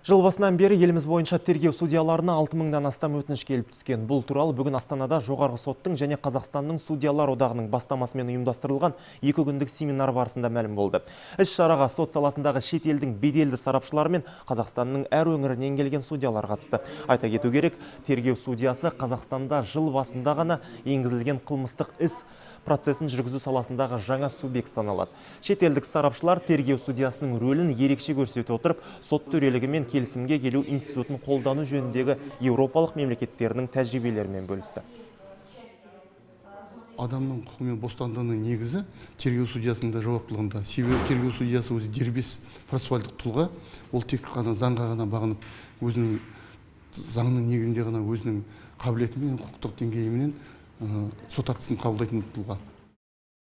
Жыл басынан бері еліміз бойынша тергеу судьяларына 6000-дан астам өтініш келіп түскен. Бұл туралы бүгін Астанада жоғарғы соттың және Қазақстанның судьялар одағының бастамасымен ұйымдастырылған 2 күндік семинар барысында мәлім болды. Іс-шараға сот саласындағы шет елдің беделді сарапшылары мен Қазақстанның әр өңірінен келген судьялар қатысты. Айта кету керек, тергеу судьясы Қазақстанда жыл басында ғана енгізілген қылмыстық іс процесін жүргізу саласындағы жаңа субъект саналады. Шетелдік сарапшылар тергеу судьясының рөлін ерекше көрсете отырып, сот төрелігі мен келісімге келу институтын қолдану жөніндегі еуропалық мемлекеттерінің тәжірибелерімен бөлісті. Адамның құқы мен бостандығының негізі тергеу судьясында жауаптылығында. Себебі тергеу судьясы өзі дербес процессуальдық тұлға, ол тек қана заңға ғана бағынып, өзінің заңның негізінде ғана өзінің қабілетімен, құқықтық деңгейімен сот актісін қабылдайтын тұлға.